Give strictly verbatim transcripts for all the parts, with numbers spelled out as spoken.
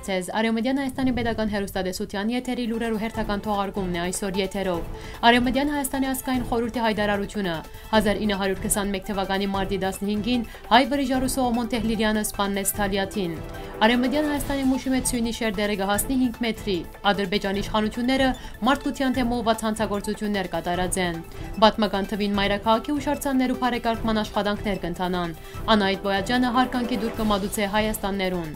Ձեզ Արեւմտյան Հայաստանի Պետական Հեռուստատեսութեան եթերի լուրերու հերթական թողարկումն է այսօր եթերով։ Արեւմտյան Հայաստանի ազգային խորհուրդի յայտարարութիւնը։ Հազար ինը հարիւր քսանմէկ թվականի մարտի տասնհինգին հայ վրիժառու Սողոմոն Թեհլիրյանը սպաննեց Թալիաթին։ Արեւմտյան Հայաստանի Մուշի մէջ սիւնի շերտերը կը հասնի հինգ մեթրի։ Ադրբեջանի իշխանութիւնները մարդկութեան դէմ ուղղուած հանցագործութիւններ կատարած են։ Պատմական թուին մայրաքաղաքի յուշարձաններու բարեկարգման աշխատանքներ կ'ընթանան։ Անահիտ Բոյաջյանը յարգանքի տուր կը մատուցէ Հայաստաններուն։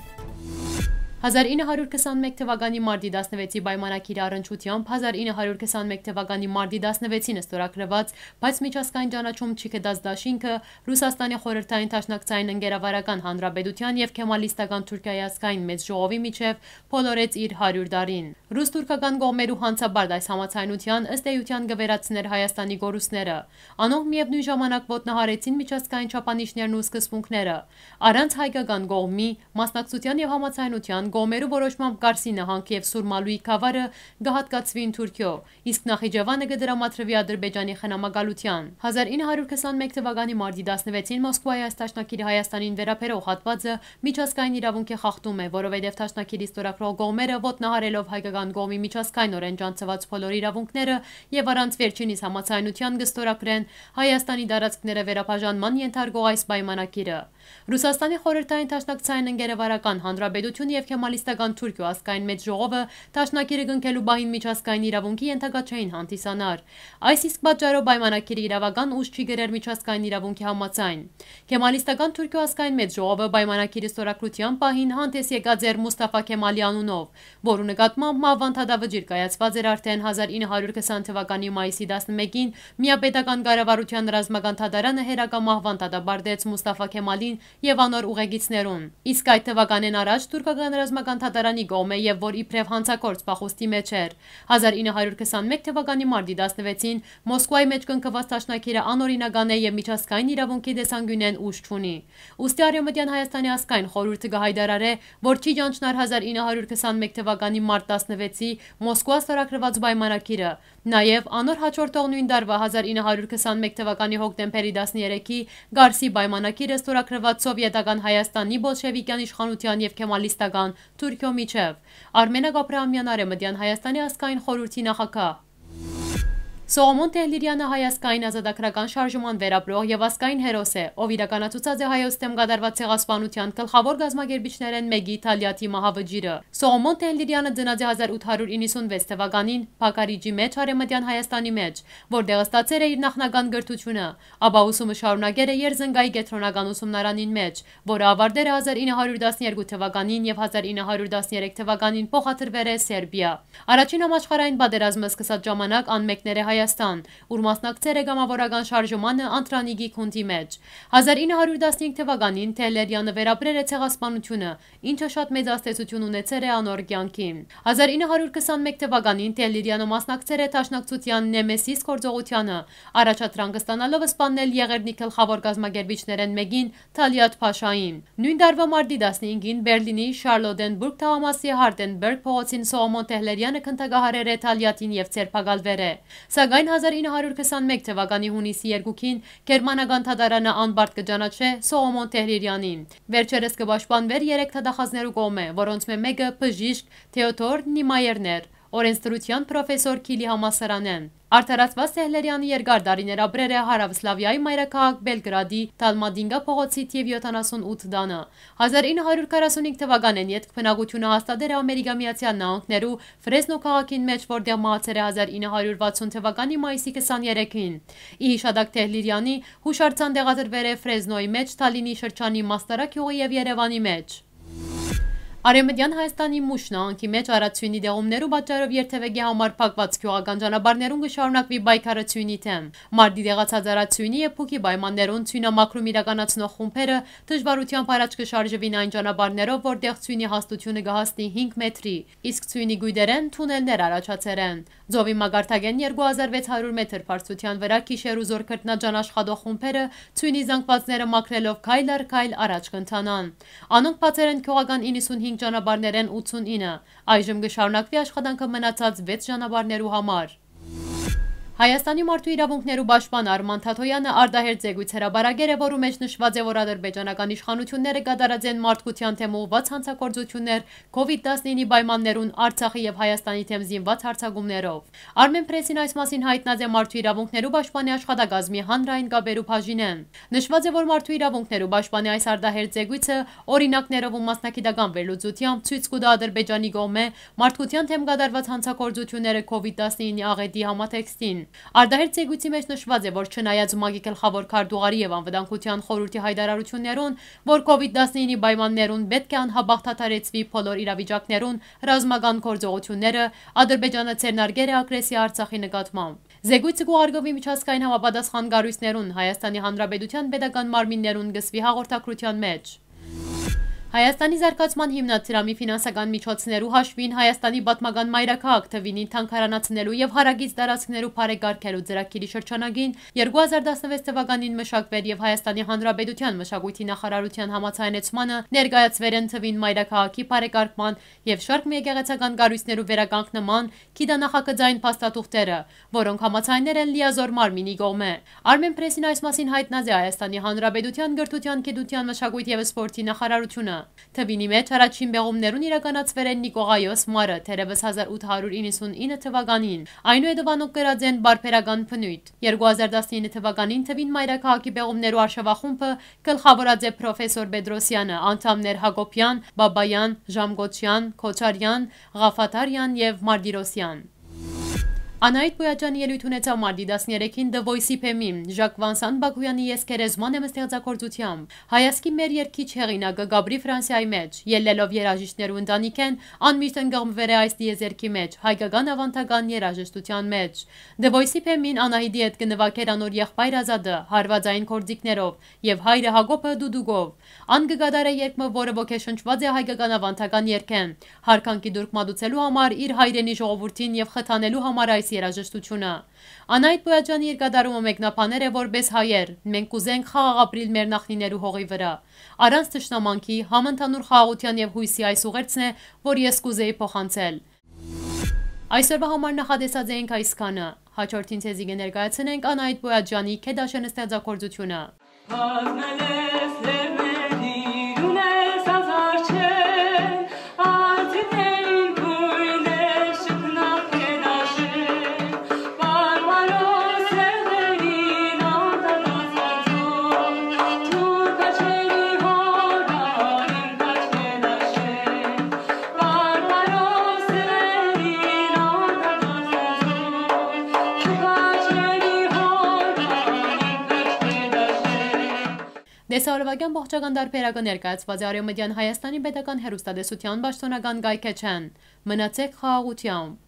Հազար ինը հարիւր քսանմէկ թվականի մարտի տասնվեցի պայմանագիրի առնչութեամբ հազար ինը հարիւր քսանմէկ թվականի մարտի տասնվեցին ստորագրուած, բայց միջազգային ճանաչում չի գտած դաշինքը Ռուսաստանի խորհրդային դաշնակցային ընկերավարական հանրապետութեան եւ քեմալիստական Թուրքիայի ազգային մեծ ժողովի միջեւ բոլորեց իր հարիւր տարին։ Ռուս-թուրքական կողմերու հանցապարտ այս համաձայնութեան, ըստ էութեան, կը վերացնէր Հայաստանի կորուստները։ Անոնք միեւնոյն ժամանակ ոտնահարեցին միջազգային չափանիշներն ու սկզբունքները։ Առանց հայկական կողմի, մասնակցութեան եւ համաձայնութեան կողմերու որոշմամբ Կարսի նահանգ եւ Սուրմալուի գաւառը կը յատկացուին Թուրքիոյ, իսկ Նախիջեւանը կը դրամատրուի Ադրբեջանի խնամակալութեան։ Հազար ինը հարիւր քսանմէկ թվականի մարտի տասնվեցին Մոսկուայի այս դաշնակիրը Հայաստանին վերաբերող հատվածը միջազգային իրաւունքի խախտում է, որովհետեւ դաշնակիրը ստորագրող կողմերը ոտնահարելով հայկական կողմի միջազգայինօրէն ճանչցուած բոլոր իրաւունքները եւ առանց վերջինիս համաձայնութեան կը ստորագրեն Հայաստանի տարածքները վերաբաժանման ենթարկող այս պայմանագիրը։ Ռուսաստանի խորհրդային դաշնակցային ընկերավարական հանրապետությունը եւ քեմալիստական Թուրքիոյ ազգային մեծ ժողովը դաշնակիրը կնքելու պահին միջազգային իրաւունքի ենթակա չէին հանդիսանար։ Այս իսկ պատճառով պայմանագիրը իրաւական ուժ չի կրեր միջազգային իրաւունքի համաձայն։ Քեմալիստական Թուրքիոյ ազգային մեծ ժողովը պայմանագիրը ստորագրութեան պահին հանդես եկած էր Մուսթաֆա Քեմալի անունով, որու նկատմամբ մահվան դատավճիռ կայացուած էր արդէն հազար ինը հարիւր քսան թվականի մայիսի տասնմէկին միապետական կառավարութեան ռազմական դատարանը հերակա մահվան դատապարտեց Մուսթաֆա Քեմալին եւ անոր ուղեկիցներուն։ Իսկ այդ թվականէն առաջ թուրքական ռազմական դատարանի կողմէ եւ որ իբրեւ հանցագործ փախուստի մէջ էր։ Հազար ինը հարիւր քսանմէկ թվականի մարտի տասնվեցին Մոսկուայի մէջ կնքուած դաշնակիրը անօրինական է եւ միջազգային իրաւունքի տեսանկիւնէն ուժ չունի։ Ուստի Արեւմտյան Հայաստանի ազգային խորհուրդը կը յայտարարէ, որ չի ճանչնար հազար ինը հարիւր քսանմէկ թվականի մարտ տասնվեցի Մոսկուա ստորագրուած պայմանագիրը։ Նաեւ անոր յաջորդող նոյն տարուայ հազար ինը հարիւր քսանմէկ թվականի հոկտեմբերի տասներեքի Կարսի պայմանագիրը ստորագրուած սովետական Հայաստանի բոլշեվիկեան իշխանութեան եւ քեմալիստական Թուրքիոյ միջեւ։ Արմենակ Աբրահամեան, Արեւմտյան Հայաստանի ազգային խորհուրդի նախագահ։ Սողոմոն Թեհլիրյանը հայ ազգային ազատագրական շարժման վերապրող եւ ազգային հերոս է, ով իրականացուցած է հայոց դէմ կատարուած ցեղասպանութեան գլխաւոր կազմակերպիչներէն մէկի Թալիաթի մահավճիռը։ Սողոմոն Թեհլիրյանը ծնած է հազար ութ հարիւր իննսունվեց թվականին Փակարիջի մէջ Արեւմտեան Հայաստանի մէջ, որտեղ ստացեր է իր նախնական կրթութիւնը, ապա ուսումը շարունակեր է Երզնկայի կեդրոնական ուսումնարանին մէջ, որը աւարտեր է հազար ինը հարիւր տասներկու թվականին եւ հազար ինը հարիւր տասներեք թվականին փոխադրուեր է Սերբիա։ Առաջին համաշխարհային պատերազմը սկսած ժամանակ ան մեկներ է Հայաստան, ուր մասնակցեր է կամավորական շարժմանը Անտրանիկի գունդի մէջ։ Հազար ինը հարիւր տասնհինգ թվականին Թեհլիրյանը վերապրեր է ցեղասպանութիւնը, ինչը շատ մեծ ազդեցութիւն ունեցեր է անոր կեանքին։ Հազար ինը հարիւր քսանմէկ թվականին Թեհլիրյանը մասնակցեր է Դաշնակցութեան Նեմեսիս գործողութեանը, առաջադրանք ստանալով սպաննել Եղեռնի գլխաւոր կազմակերպիչներէն մէկին Թալիաթ Փաշային։ Նոյն տարուայ մարտի տասնհինգին Բերլինի Շարլոտենբուրգ թաղամասի Հարտենբերգ փողոցին Սողոմոն Թեհլերյանը գնդակահարեր է Թալիաթին եւ ձերբակալուեր է։ Սակայն հազար ինը հարիւր քսանմէկ թվականի յունիսի երկուին գերմանական դատարանը անպարտ կը ճանաչէ Սողոմոն Թեհլիրյանին։ Վերջերս կը պաշտպանուեր երեք դատախազներու կողմէ, որոնցմէ մէկը բժիշկ Թեոդոր Նիմայերն էր, օրենսդրութեան պրոֆեսոր Քիլի համալսարանէն։ Արդարացուած Թեհլերյանը երկար տարիներ ապրեր է Հարաւսլավիայի մայրաքաղաք Բելգրադի Դալմատինկա փողոցի թիվ յոթանասուն ութ տանը։ Հազար ինը հարիւր քառասունհինգ թվականէն ետք բնակութիւնը հաստատեր է Ամերիկա Միացեալ Նահանգներու Ֆրեզնո քաղաքին մէջ, որտեղ մահացեր է հազար ինը հարիւր վաթսուն թվականի մայիսի քսաներեքին։ Ի յիշատակ Թեհլիրյանի յուշարձան տեղադրուեր է Ֆրեզնոյի մէջ, Թալինի շրջանի Մաստարա գիւղի եւ Երեւանի մէջ։ Արեւմտեան Հայաստանի Մուշ նահանգի մէջ առատ սիւնի դեղումներու պատճառով երթեւեկի համար փակուած գիւղական ճանապարհներուն կը շարունակուի պայքարը սիւնի դէմ։ Մարտի դեղացած առատ սիւնի եւ փուքի պայմաններուն սիւնամաքրում իրականացնող խումբերը դժուարութեամբ առաջ կը շարժուին այն ճանապարհներով, որտեղ սիւնի հաստութիւնը կը հասնի հինգ մեթրի, իսկ սիւնի կոյտերէն թունելներ առաջացեր են։ Ծովի մակարդակէն երկու հազար վեց հարիւր մեթր բարձրութեան վրայ գիշեր ու զօր քրտնաջան աշխատող խումբերը սիւնի զանգվածները մաքրելով քայլ առ քայլ առաջ կ'ընթանան։ Անոնք բացեր են գիւղական իննսունհինգ ճանապարհներէն ութսունինը։ Այժմ կը շարունակուի աշխատանքը մնացած վեց ճանապարհներու համար։ Հայաստանի մարդու իրաւունքներու պաշտպան Արման Թաթոյանը արտահերթ զեկոյց հրապարակեր է, որու մէջ նշուած է, որ ադրբեջանական իշխանութիւնները կատարած են մարդկութեան դէմ ուղղուած հանցագործութիւններ COVID-19-ի պայմաններուն Արցախի եւ Հայաստանի դէմ զինուած յարձակումներով։ Արմեն Պրեսին այս մասին յայտնած է մարդու իրաւունքներու պաշտպանի աշխատակազմի հանրային կապերու բաժինէն։ Նշուած է, որ մարդու իրաւունքներու պաշտպանի այս արտահերթ զեկոյցը օրինակներով ու մասնագիտական վերլուծութեամբ ցոյց կու տայ Ադրբեջանի կողմէ մարդկութեան դէմ կատարուած հանցագործութիւնները COVID-19-ի աղէտի համատեքստին։ Արտահերթ զեկոյցի մէջ նշուած է, որ չնայած ՄԱԿ-ի գլխաւոր քարտուղարի եւ Անվտանգութեան խորհուրդի յայտարարութիւններուն, որ COVID-19-ի պայմաններուն պէտք է անհապաղ դադարեցուի բոլոր իրավիճակներուն ռազմական գործողութիւնները, Ադրբեջանը ձեռնարկեր է ագրեսիա Արցախի նկատմամբ։ Զեկոյցը կ'ուղարկուի միջազգային համապատասխան կառոյցներուն, Հայաստանի Հանրապետութեան պետական մարմիններուն, կ'ըսուի հաղորդագրութեան մէջ։ Հայաստանի զարգացման հիմնադրամի ֆինանսական միջոցներու հաշուին Հայաստանի պատմական մայրաքաղաք Թուինին թանգարանացնելու եւ հարակից տարածքներու բարեկարգելու ծրագիրի շրջանակին երկու հազար տասնվեց թվականին մշակուեր եւ Հայաստանի Հանրապետութեան մշակոյթի նախարարութեան համաձայնեցմանը ներկայացուեր են Թուին մայրաքաղաքի բարեկարգման եւ շարք մը եկեղեցական կառոյցներու վերականգնման գիտանախագծային փաստաթուղթերը, որոնք համաձայներ են լիազօր մարմինի կողմէ։ Արմեն Պրեսին այս մասին յայտնած է Հայաստանի Հանրապետութեան կրթութեան, գիտութեան, մշակոյթ եւ սպորտի նախարարութիւնը։ Թուինի մէջ առաջին պեղումներուն իրականացուեր են Նիկողայոս Մարը, թերեւս հազար ութ հարիւր իննսունինը թվականին։ Այնուհետեւ անոնք կրած են պարբերական բնոյթ։ Երկու հազար տասնինը թվականին Թուին մայրաքաղաքի պեղումներու արշաւախումբը գլխաւորած է պրոֆեսոր Պետրոսյանը, անդամներ Հակոբեան, Բաբաեան, Ժամկոչեան, Քոչարեան, Ղաֆաթարեան եւ Մարտիրոսեան։ Անահիտ Պոյաճյանի ելոյթ ունեցաւ մարտի տասներեքին The Voice-ի բեմին, Ժակ Վանսան Բաքոյանի «Ես քերեզման եմ» ստեղծագործութեամբ։ Հայազգի մեր երգիչ հեղինակը կ'ապրի Ֆրանսիայի մէջ, ելլելով երաժիշտներու ընտանիքէն, անմիշտ ընկղմուեր է այս տիեզերքի մէջ, հայկական աւանդական երաժշտութեան մէջ։ The Voice-ի բեմին Անահիտի հետ կը նուագէր անոր եղբայր Ազատը, հարուածային գործիքներով, եւ հայրը Հակոբը՝ դուդուկով։ Ան կը կատարէ երգ մը, որը ոգեշնչուած է հայկական աւանդական երգէն, յարգանքի տուրք մատուցելու համար իր հայրենի ժողովուրդին եւ խթանելու համար այս երաժշտութիւնը։ Անահիտ Պոյաճյանի իր կատարումը մեկնաբաներ է որպէս հայեր. «Մենք կ'ուզենք խաղաղ ապրիլ մեր նախնիներու հողի վրայ, առանց թշնամանքի, համընդհանուր խաղաղութեան եւ յոյսի այս ուղերձն է, որ ես կ'ուզէի փոխանցել»։ Այսօրվա համար նախատեսած էինք այսքանը։ Հաջորդին ձեզի կը ներկայացնենք Անահիտ Պոյաճյանի «Քեդաշեն» ստեղծագործութիւնը։ Տեսահոլովակեան ողջական տարբերակը ներկայացուած է Արեւմտեան Հայաստանի պետական հեռուստատեսութեան պաշտօնական կայքէջէն։ Մնացեք խաղաղութեամբ։